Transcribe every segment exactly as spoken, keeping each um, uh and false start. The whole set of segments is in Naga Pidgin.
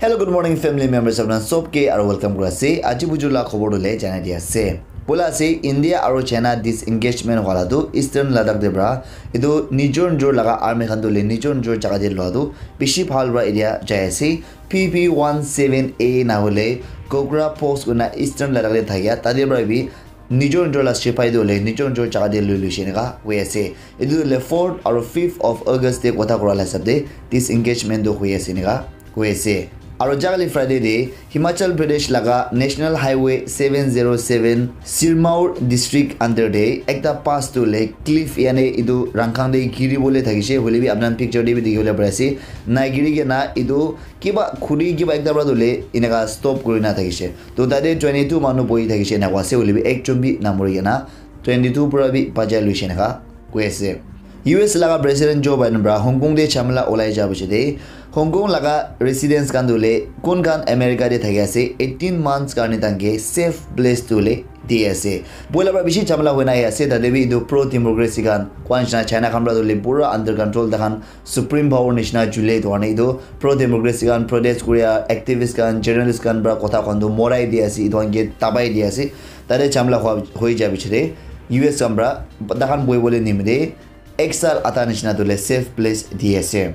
Hello, good morning, family members of Nan Sob ke, aru welcome kura ase. Aji buju la khobor tu le janai di ase. Bola ase, India aru China disengagement wala tu Eastern Ladakh de bra. Itu nijor nijor laga army khan tu le nijor nijor jaga de lua tu bishi bhal bra area jai ase. P P one seven A na hole Kogra Post kuna Eastern Ladakh de thakia. Tade bra bi nijor nijor la sipai tu le nijor nijor jaga de lui lui she neka hoi ase. Itu le fourth aru fifth of August de kotha kura la hisab de disengagement tu hoi ase neka hoi ase. Aru jagale Friday de Himachal Pradesh laga National Highway seven zero seven Sirmaur district under de ekta pass tu le cliff yane itu rangkhang de giri bole thakishe, hoile bi apnan picture de bi dikhi bole pari ase. Na giri ke na itu kiba khuri kiba ekta pra tu le inaka stop kuri na thakishe. To tate twenty two manu bohi thakishe na koi ase, hoile bi ekjon bi na mori ke na twenty two pra bi bachai luishe naka koi ase. U S laga President Joe Biden pra Hong Kong de chamla olai ja biche de Hong Kong laga residents khan tu le kun khan America de thaki ase eighteen months karne tanke safe place tu le di ase. Boila pra bishi chamla hoina ahi ase, tate bi itu pro democracy khan kwan China khan pra tu le pura under control, takhan supreme power nishina jule itu karne itu pro democracy khan protest kuria activist khan journalist khan pra kotha khan tu morai di ase, itu khan ke tabai di ase. Tate chamla hoi ja biche de U S khan pra takhan bohi bole nimide ek sal ata nishina tu le safe place di ase.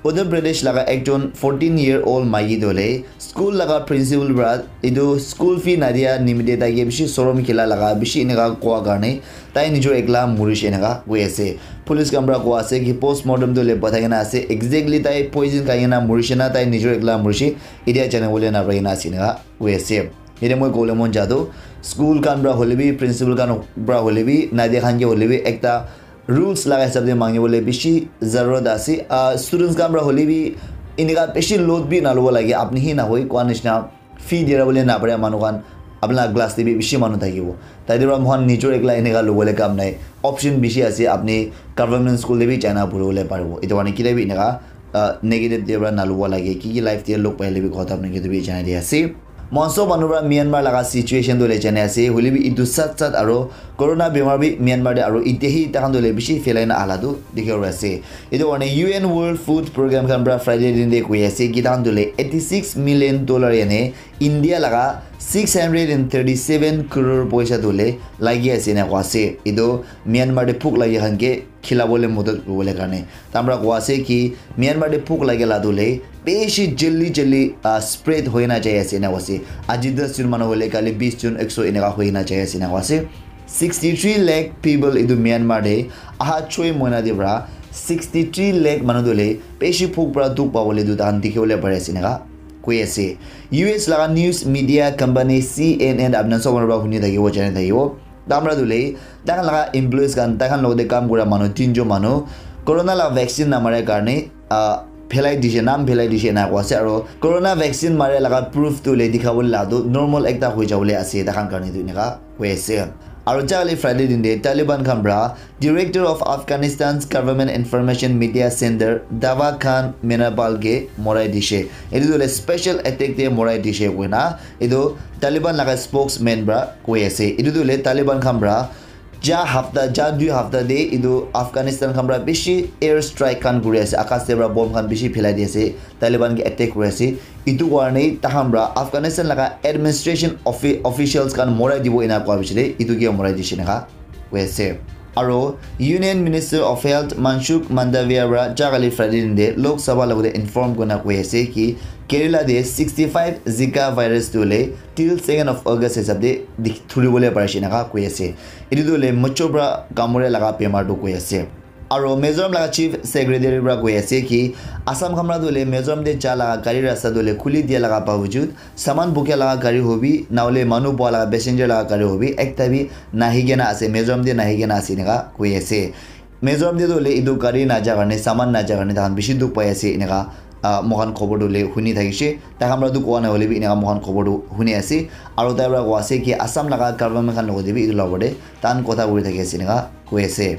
Uttar Pradesh laga ekjon fourteen year old maiki tu le school laga principal pra itu school fee nadia nimide taike bishi sorom khila laga bishi inaka koa karne tai nijor ekla murishe inaka koi ase. Police khan pra koi ase ki postmortem tu le bathai kena ase exactly tai poison khai kena murishe na tai nijor ekla murishe, itia jane bole na pai kena ase inaka koi ase. Ite moi kole mon ja tu school khan pra hole bi principal khan pra hole bi nadia khan ke hole bi ekta rules laga hisab de mangi bole bishi zarurat ase. Ah, students khan pra hole bi inika bishi load bi na lobo lage, apni hi na hoi kwan nishina fee dira bole na pare manu khan apna class de bi bishi manu thakibo. Tai de pra mohan nijor ekla inika lobo le kam nai, option bishi ase, apni government school de bi jana puri bole paribo. Itu karne kile bi inika ah, negative de pra na lobo lage, ki ki life de log paile bi kotha apni ke tu bi janai di ase. Mohan sob manu pra Myanmar laga situation tu le janai ase, hoile bi itu sat sat aro corona bimar bi Myanmar de aro ite hi takhan tu le bishi phelai na ala tu dikhi ase. Itu karne U N World Food Program khan pra Friday din de koi ase ki takhan tu le eighty six million dollar yane India laga six hundred and thirty seven crore poisa tu le lagi ase na koi ase. Itu Myanmar de phuk lagi khan ke khila bole modot kuri bole karne. Tamra koi ase ki Myanmar de phuk lage la tu le bishi joldi joldi, ah, spread hoi na jai ase na koi ase. Aji das jun manu hole kali bis jun ekso eneka hoi na jai ase na koi ase. Sixty three lakh people itu Myanmar de aha choi moina de pra sixty three lakh manu tu le bishi phuk pra dukh pa bole tu tahan dikhi bole pari ase neka koi ase. U S laga news media company C N N apna sob manu pra huni thakibo, jani thakibo. Tamra tu le takhan laga employees khan, takhan logte kam kura manu tinjon manu corona la vaccine namare karne, ah, phelai dishe, nam phelai dishe ena koi ase. Aro corona vaccine mare laga proof tu le dikhabole la tu normal ekta hoi jabole ase takhan karne tu eneka koi ase. Aro jale Friday din de Taliban khan pra Director of Afghanistan's Government Information Media Center Dawa Khan Menapal ke morai dishe. Etu tu le special attack de morai dishe koina etu Taliban laga spokesman pra koi ase. Etu tu le Taliban khan pra ja hafta, ja dui hafta de etu Afghanistan khan pra bishi air strike khan kuri ase, akas de pra bomb khan bishi phelai di ase, Taliban ke attack kuri ase. Etu karne takhan pra Afghanistan laga administration offi-, officials khan morai dibo ena koa bishi de etu ke morai dishe neka koi ase. Aro Union Minister of Health Mansukh Mandaviya pra jagale Friday din de Lok Sabha logote inform kurina koi ase ki Kerala de sixty five Zika virus tu le till second of August hisab de dik-, thuri bole pari ase neka koi ase. Etu tu le mucho pra kamore laga bemar tu koi ase. Aro Mizoram laga Chief Secretary pra koi ase ki Assam khan pra tu le Mizoram de ja laga gari rasta tu le khuli dia laga bawajud saman bukia laga gari hobi, nahole manu bua laga passenger laga gari hobi, ekta bi nahi kena ase, Mizoram de nahi kena ase eneka koi ase. Mizoram de tu hoile etu gari naja karne, saman naja karne takhan bishi dukh pai ase eneka, ah, moikhan khobor tu hoile huni thakishe. Takhan pra tu koa nahole bi eneka moikhan khobor tu huni ase. Aro tai pra koi ase ki Assam laga government khan logote bi etu la opor de takhan kotha kuri thaki ase eneka koi ase.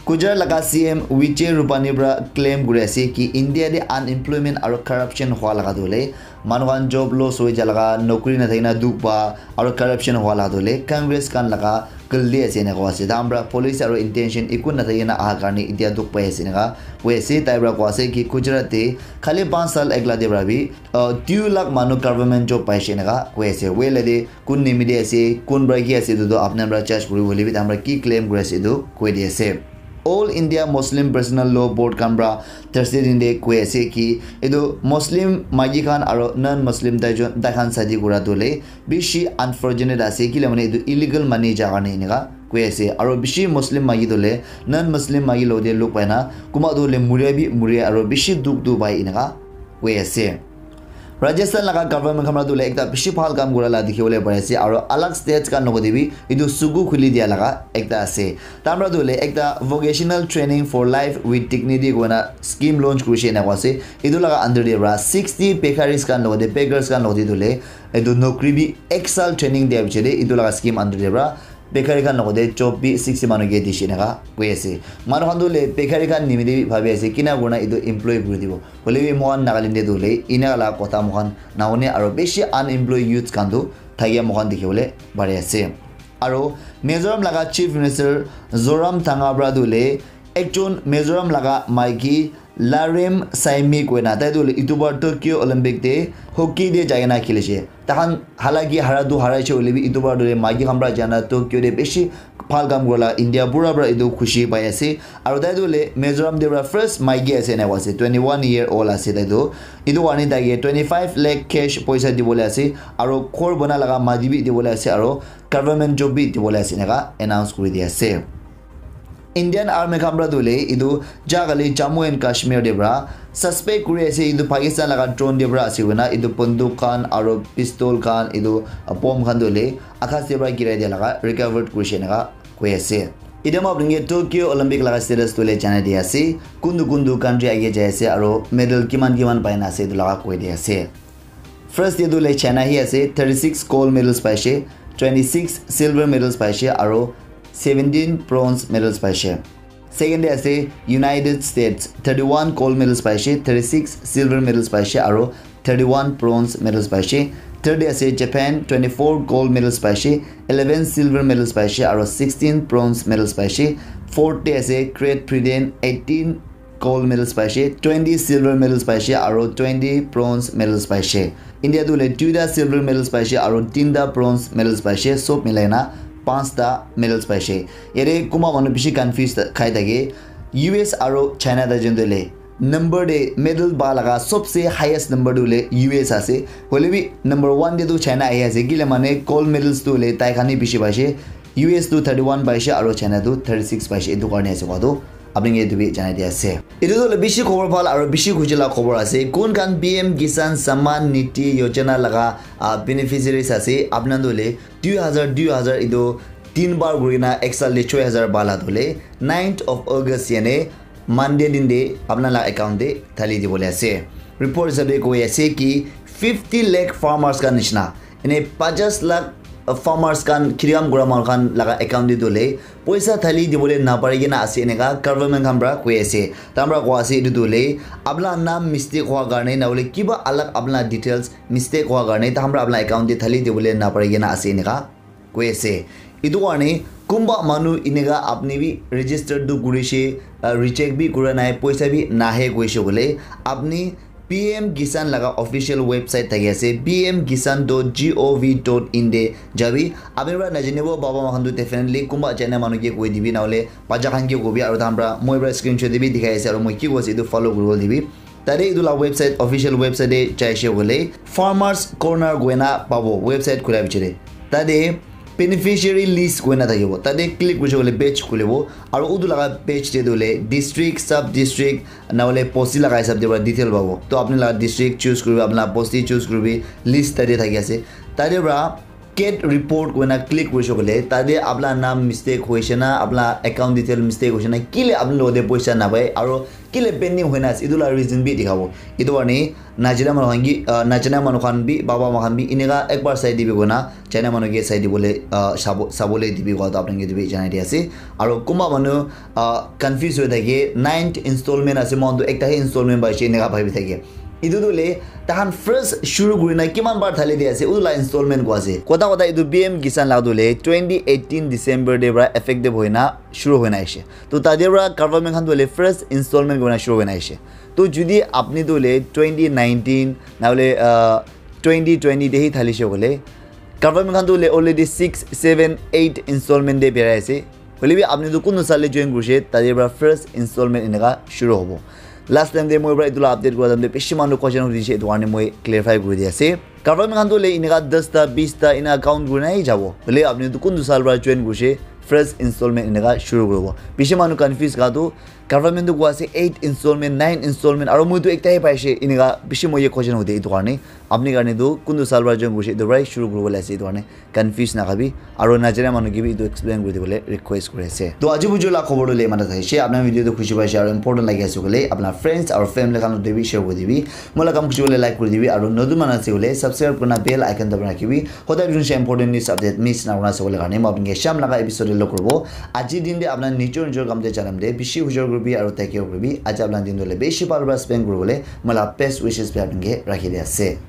Gujarat laga C M Vijay Rupani pra claim kuri ase ki India de unemployment aro corruption hua laga tu hoile Manu khan job loss hoi jalaga, nokri nathakina dukh pa, aro corruption hua la dole Congress khan laga galti ase ena koa ase. Tahan pra policy aro intention eku nathakina aha karne etia dukh pai ase eneka koi ase. Tai pra koa ase ki Gujarat te khali panch sal ekla te pra bi, uh, two lakh manu government job paise eneka koi ase. Hoile te kun nimite ase, kun pra ki ase etu toh apna pra judge kuribo hoile bi tahan pra ki claim kuri ase etu koi di ase. All India Muslim Personal Law Board khan pra Thursday din te koi ase ki etu Muslim maiki khan aro non Muslim tai jon tai khan shadi kura tu le bishi unfortunate ase, kile mane etu illegal mani ja karne eneka koi ase. Aro bishi Muslim maiki tu le non Muslim maiki lo te log pai na kunba tu le muria bi muria aro bishi dukh tu pai eneka koi ase. Rajasthan laga government khan pra tu le ekta bishi bhal kam kura la dikhi bole pari ase, aro alag states khan logote bi etu suku khuli dia laga ekta ase. Tahan pra tu le ekta vocational training for life with dignity koina scheme launch kurishe ena koa ase. Etu laga under te pra sixty bekaris khan logote, beggars khan logote tu le etu nokri bi ek sal training dia piche te etu laga scheme under te pra bekari khan logote job bi sixty manu ke dishe eneka koi ase. Manu khan tu le bekari khan nimite bi bhabi ase kina kurina etu employ kuri dibo. Hoile bi moikhan Nagaland te tu le ena la kotha moikhan nahune aro bishi unemployed youths khan tu thakia moikhan dikhi bole pari ase. Aro Mizoram laga Chief Minister Zoram Thanga pra tu le ekjon Mizoram laga maiki Larem Saimi koina tai tu le etu bar Tokyo Olympic te hockey te jai kena khilishe. Tahan halaki hara tu haraishe hoile bi etu bar tu le maiki khan pra jana Tokyo te bishi bhal kam kurila India pura pra etu khushi pai ase. Aro tai tu le Mizoram te pra first maiki ase ena koa ase, twenty one year old ase tai tu. Etu karne tai ke twenty five lakh cash poisa dibole ase, aro ghor bana laga mati bi dibole ase, aro government job bi dibole ase eneka announce kuri di ase. Indian Army khan pra tu le etu ja kali Jammu and Kashmir te pra suspect kuri ase etu Pakistan laga drone te pra ase koina etu banduk khan aro pistol khan etu bomb khan tu le akas te pra girai dia laga recovered kurishe eneka koi ase. Etia moi apni ke Tokyo Olympic laga status tu le janai di ase, kuntu kuntu country age jai ase aro medal kiman kiman pai na ase etu laga koi di ase. First te tu le China hi ase, thirty six gold medals paise, twenty six silver medals paise aro seventeen bronze medals paise. Second te ase United States, thirty one gold medals paise, thirty six silver medals paise aro thirty one bronze medals paise. Third te ase Japan, twenty four gold medals paise, eleven silver medals paise aro sixteen bronze medals paise. Fourth te ase Great Britain, eighteen gold medals paise, twenty silver medals paise aro twenty bronze medals paise. India tu le duita silver medals paise aro tinta bronze medals paise, sob milai na panchta medals paise. Yate kunba manu bishi confuse khai thake, U S aro China ta jun tu le number te medal pa laga sobse highest number tu le U S ase. Hoile bi number one te tu China ahi ase. Kile mane gold medals tu le tai khan hi bishi paise. U S tu thirty one paise aro China tu thirty six paise. Etu karne ase koa tu apni ke etu bi janai di ase. Etu tu le bishi khobor bhal aro bishi khushi la khobor ase. Kun khan P M Kisan Samman Nidhi Yojana laga, ah, beneficiaries ase. Apna tu le dui hazar, dui hazar etu tin bar kuri na ek sal te choi hazar pa la tu le ninth of August yani Monday din te apna la account te thali dibole ase. Report hisab te koi ase ki fifty lakh farmers khan nishina, ene pachash lakh farmers khan, kheti kam kura manu khan laga account te tu le poisa thali dibole napari kena ase, eneka government khan pra koi ase. Tahan pra koa ase etu tu le apna naam mistake hua karne na hole kiba alag apna details mistake hua karne tahan pra apna account te thali dibole napari kena ase, eneka koi ase. Etu karne kunba manu eneka apni bi register tu kurishe, ah, recheck bi kura nai, poisa bi nahe koishe koile, apni P M Kisan laga official website thaki ase, P M Kisan dot G O V dot in te jabi. Apni pra najanibo baba moikhan tu definitely kunba jana manu ke koi dibi, na hole bacha khan ke kobi, aro tahan pra moi pra screenshot te bi dikhai ase, aro moi ki koi ase etu follow kuribo dibi. Tate etu la website, official website te jaise koile Farmers Corner koina pabo, website khula piche te. Tate beneficiary list koina thakibo. Tate click kurise koile page khulibo. Aru utu laga page te tu hoile district, sub district, na hoile bosti laga hisab te para detail pabo. To apni laga district choose kuribi, apni laga bosti choose kuribi, list tate thaki ase. Tate para get report koina click kurise koile, tate apna naam mistake hoise na, apna account detail mistake hoise na, kile apni logote poisa napai, aru kile pending hoina ase, etu la reason bi dikhabo. Etu karne najana manu khan ki, ah, najana manu khan bi, baba ma khan bi, eneka ekbar sai dibi koina, jana manu ke sai dibole, ah, sabo, sabole dibi kowa to apni ke etu bi janai di ase. Aru kunba manu, ah, confuse hoi thake, ninth installment ase, moikhan to ekta he installment paise, eneka bhabi thake. Etu tu le tahan first shuru kurina kiman bar thali di ase, utu la installment ko ase. Kota kota etu P M Kisan la tu le twenty eighteen December de pra effective hoina shuru hoina aise. To tade pra government khan tu le first installment kurina shuru hoina aise. To judi apni tu le twenty nineteen na hole, uh, twenty twenty de hi thali she kole, government khan tu le already six, seven, eight installment de berai ase. Hoile bi apni tu kuntu sal te join kurishe, tade pra first installment eneka shuru hobo. Last time te moi pra etu la update kura time te bishi manu question hudishe, etu karne moi clarify kuri di ase. Government khan tu le eneka das ta, bis ta eneka count kuri nai jabo. Hoile apni tu kuntu sal pra join kurishe, first installment eneka shuru kuribo. Bishi manu confuse ka tu government tu koi ase eight installment, nine installment, aro moi tu ekta he paishe, eneka bishi moi ye question hudi etu karne. Apni karne tu kuntu sal pra join kurishe, etu pra shuru kuribo le ase etu karne. Confuse na khabi, aro najana manu ke bi etu explain kuri dibole request kuri ase. To aji buju la khobor tu le imana thaishe, apna video tu khushi paishe aro important lagi ase kole, apna friends aro family khan logote bi share kuri dibi. Moi la kam khushi kole like kuri dibi, aro notun manu ase kole subscribe kurna bell icon dabai rakhibi. Hodai dunse important news update miss na kurna sabole karne, moi apni ke sham laga episode de log kuribo. Aji din de apna nijor nijor kam de janam de, bishi hujor kuribi aro take care kuribi. Aji apna din tu le bishi bhal pra spend kuribole, moi la best wishes bi apni ke rakhi di ase.